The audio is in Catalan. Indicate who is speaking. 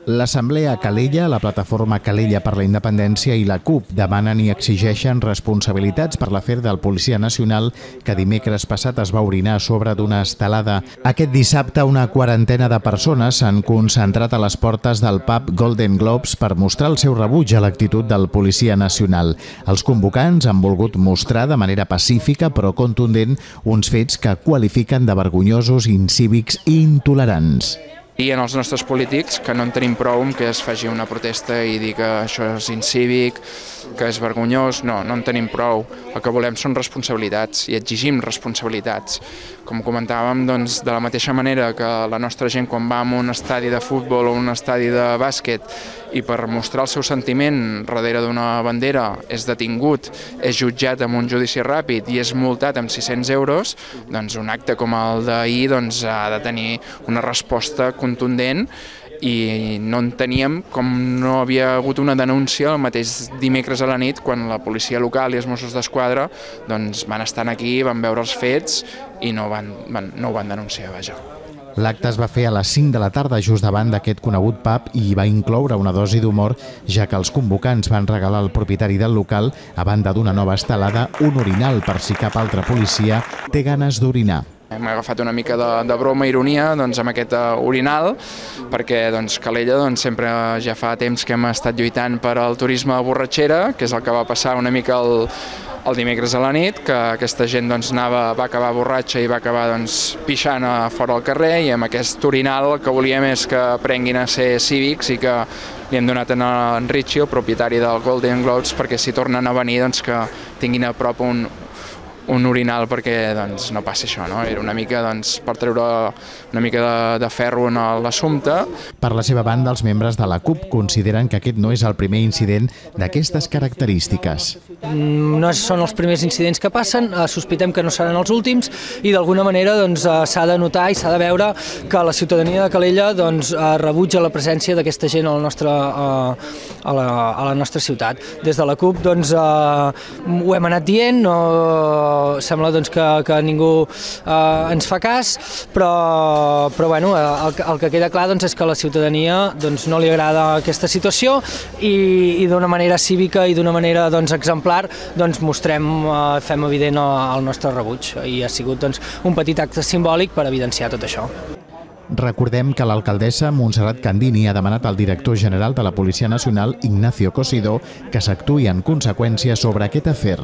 Speaker 1: L'Assemblea a Calella, la plataforma Calella per la Independència i la CUP demanen i exigeixen responsabilitats per l'afer del policia nacional que dimecres passat es va orinar a sobre d'una estelada. Aquest dissabte una quarantena de persones s'han concentrat a les portes del pub Golden Globes per mostrar el seu rebuig a l'actitud del policia nacional. Els convocants han volgut mostrar de manera pacífica però contundent uns fets que qualifiquen de vergonyosos, incívics i intolerants.
Speaker 2: I en els nostres polítics, que no en tenim prou que es faci una protesta i dir que això és incívic, que és vergonyós, no en tenim prou. El que volem són responsabilitats i exigim responsabilitats. Com comentàvem, doncs, de la mateixa manera que la nostra gent quan va a un estadi de futbol o un estadi de bàsquet i per mostrar el seu sentiment darrere d'una bandera és detingut, és jutjat amb un judici ràpid i és multat amb 600 euros, doncs un acte com el d'ahir ha de tenir una resposta contundent i no enteníem com no havia hagut una denúncia el mateix dimecres a la nit quan la policia local i els Mossos d'Esquadra van estar aquí, van veure els fets i no ho van denunciar, vaja.
Speaker 1: L'acte es va fer a les 5 de la tarda just davant d'aquest conegut pub i va incloure una dosi d'humor, ja que els convocants van regalar al propietari del local, a banda d'una nova estelada, un orinal per si cap altre policia té ganes d'orinar.
Speaker 2: Hem agafat una mica de broma i ironia amb aquest orinal, perquè Calella sempre ja fa temps que hem estat lluitant per al turisme de borratxera, que és el que va passar una mica el dimecres a la nit, que aquesta gent va acabar borratxa i va acabar pixant a fora al carrer, i amb aquest orinal el que volíem és que aprenguin a ser cívics i que li hem donat a en Richie, el propietari del Golden Globes, perquè si tornen a venir que tinguin a prop un orinal perquè no passi això, no? Era una mica per treure una mica de ferro en l'assumpte.
Speaker 1: Per la seva banda, els membres de la CUP consideren que aquest no és el primer incident d'aquestes característiques.
Speaker 3: No són els primers incidents que passen, sospitem que no seran els últims i d'alguna manera s'ha de notar i s'ha de veure que la ciutadania de Calella rebutja la presència d'aquesta gent a la nostra ciutat. Des de la CUP ho hem anat dient, sembla que ningú ens fa cas, però el que queda clar és que a la ciutadania no li agrada aquesta situació i d'una manera cívica i d'una manera exemplar fem evident el nostre rebuig i ha sigut un petit acte simbòlic per evidenciar tot això.
Speaker 1: Recordem que l'alcaldessa Montserrat Candini ha demanat al director general de la Policia Nacional, Ignacio Cosidó, que s'actuï en conseqüència sobre aquest afer.